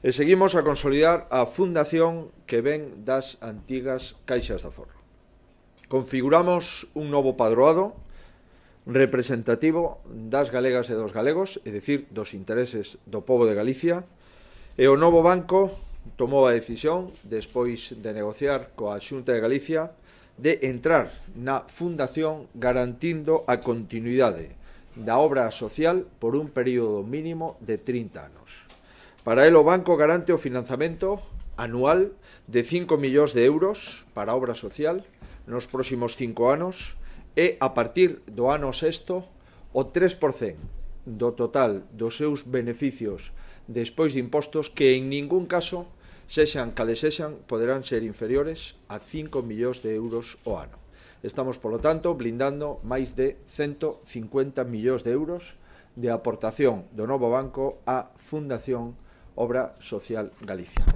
E seguimos a consolidar a fundación que ven das antigas caixas de aforro. Configuramos un novo padroado representativo das galegas e dos galegos, é dicir, dos intereses do pobo de Galicia, e o novo banco tomou a decisión, despois de negociar coa Xunta de Galicia, de entrar na fundación garantindo a continuidade da obra social por un período mínimo de 30 anos. Para el, o banco garante o financiamento anual de 5 millóns de euros para a obra social nos próximos 5 anos e, a partir do ano sexto, o 3% do total dos seus beneficios despois de impostos que en ningún caso, sexan cales sexan, poderán ser inferiores a 5 millóns de euros ao ano. Estamos, polo tanto, blindando máis de 150 millóns de euros de aportación do novo banco á Fundación Obra Social Galicia.